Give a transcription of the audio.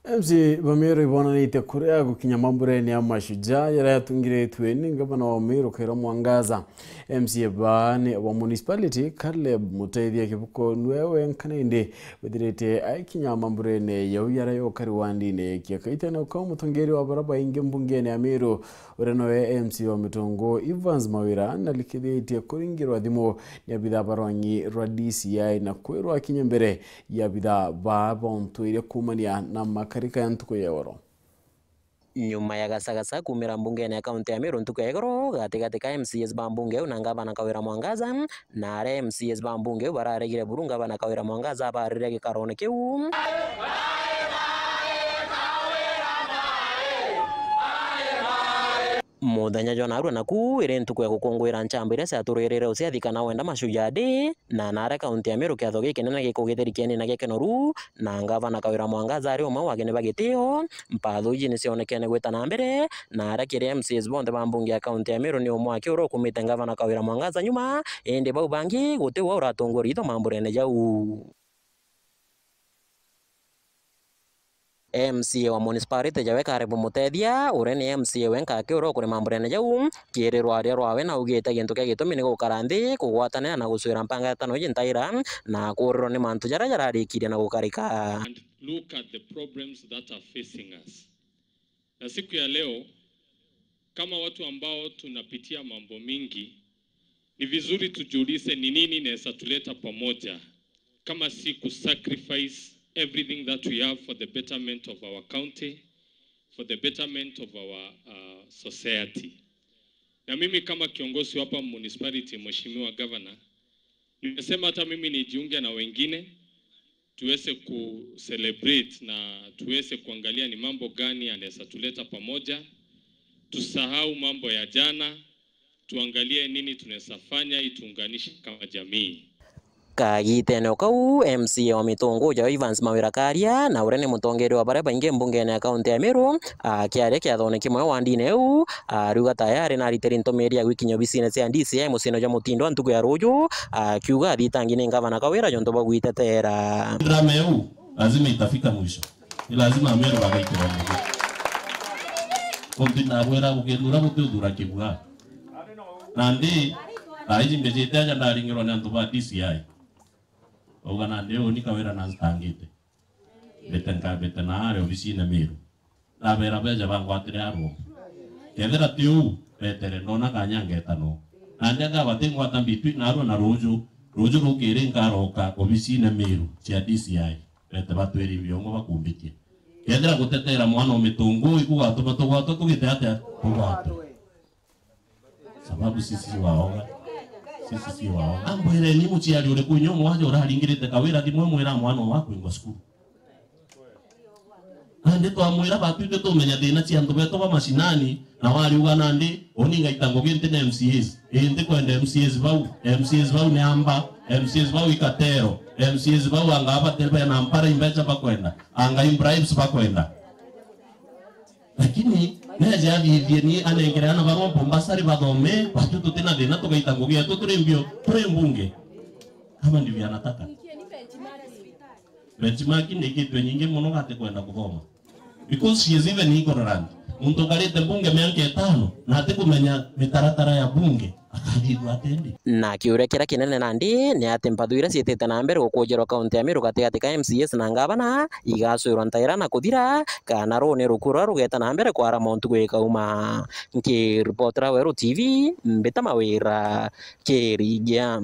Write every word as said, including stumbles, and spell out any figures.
M C A ba Meru ibonanitie kuria gukinya mamburene ya Mashujaa jaria yatungiritwe ni ngavana wa Meru Kawira Mwangaza. M C A baa ni wa municipality Caleb Mutethia Kibuko niwe wenka nindi withirite aikinya mamburene jau jaria yokari wandine kia Kaitene, ukau mutongeria wa baria baingi mbungene ya Meru uria noe M C A wa Mitungu Evans Mawira narikithitie kuringirwa thimu ni abithaa ba rwangi rwa D C I na kwirwa akinye mbere ya abithaa baa bontwire kuumania na makarika ya ntuku ya igoro. Nyuma ya gasagasa kuumira mbungene ya kaunti ya Meru ntuku ya igoro, gatigati ka M C As ba mbunge iu na ngavana Kawira Mwangaza, na aria M C As ba mbunge iu bararegire buru ngavana Kawira Mwangaza abarire gikarone kiu. Muthenya jwa narua naku iri ntuku ya gukunguira nchamba iria ciaturirire uciathi kana wenda Mashujaa Day, na naria kaunti ya Meru kiatho gikinene gikugithiri kieni na gikenoru, na ngavana Kawira Mwangaza ari umwe wa ageni ba gitio. Mpatho iji nicionekene gwita na mbere, na aria kiri M C As bonthe ba mbunge ya kaunti ya Meru ni umwe aki uria ukumite ngavana Kawira Mwangaza nyuma, indi bau bangi guti ua uratunguria itho mamburene jau. M C A wa municipality jawe Caleb Mutethia, uria ni M C A wenka aki uria ukuri mamburene jau, kiri rwaria rwawe naugite gintu kia gitumi ni gukara nthi, kugwatanira na gucwira mpangatano iji ntaira, na kuurirwa ni mantu jaria jararikirie na gukarika. And look at the problems that are facing us. Na siku ya leo, kama watu ambao tunapitia mambo mingi, ni vizuri tujiulize ni nini inaweza tuleta pamoja, kama si ku sacrifice everything that we have for the betterment of our county, for the betterment of our, uh, society. Na mimi kama kiongozi wa hapa municipality, Mheshimiwa Governor, nimesema hata mimi nijiunge na wengine tuweze ku celebrate na tuweze kuangalia ni mambo gani yanaweza tuleta pamoja, tusahau mambo ya jana, tuangalie nini tunaweza fanya ili tuunganishe kama jamii. Kagitene o kau, M C A wa Mitungu ja Evans Mawira Karia, na uria ni mutongeria wa baria baingi mbungene ya kaunti ya Meru, akiaria kiathone kimwe wandine iu, ariuga tayari naritiri ntumiri ya gwikinya obisine cia D C I muciine jwa Mutindwa ntuku ya ruju, akiuga athitangi ni ngavana Kawira jontu bwa gwitetera. Drama yau lazima itafika mwisho. Ni lazima Ameru bagaikira mwisho. Kuntu ndabwira gukithura guti uthura kibua. Nandi, thaa iji mbijite aja ndaringirwa ni antu ba D C I. Bauga nandi uni Kawira na ntangite. Mbite nka-, mbite na aria obisine Meru. Ndabera beja bangwatire arua. Kethira ti uu, betere ndona kanya ngeta no. Nandi anga batingwata mbitwi narua na ruju, ruju rukiri nkaroka obisine Meru cia D C I. Bete batwiri biongo bakumbitie. Kethira gutetera mwana o Mitungu, ikugatuma tugwatwa tugite atia? Tugwatwe. Sababu sisi si waoga. Sisi si waoga. Ambwireni muciari uriku inyo mwaja uraringirite Kawira thimu mwira mwana waku ingwa cukuru. Nandi twamwira batwite tumenya thina cia antu betu ba mashinani, na wariuga nandi, uni ngaita ngugi nti na M C As. Ii ntikwenda M C As bau. M C As bau ni amba, M C As bau ikatero, M C As bau anga abate bena mpara imbecha bakwenda, anga imbribes bakwenda. Lakini neje athithie ni anengere ana barompo mbasari bathome, batu tutina thina tugaita ngugi yetu turi mbio, turi mbunge. Kama ndivyo anataka. Benchmark ni kitu nyingi muno gati kwenda kuthoma. Because she is even ignorant. Muntu ukarite mbunge miaka itano na atikumenya mitaratara ya bunge. Akathithua atendi. Na kiuria kiria kinene nandi ni ati mpathu iria ciitite na mbere gukujerwa kaunti ya Meru gatigati ka M C As na ngavana igacwirwa ntaira na kuthira, kana ruu ni ruku ruria rugeta na mbere kwarama ntuku ikauma. Nkiripotera Weru T V, Mbita Mawira, Kirigia.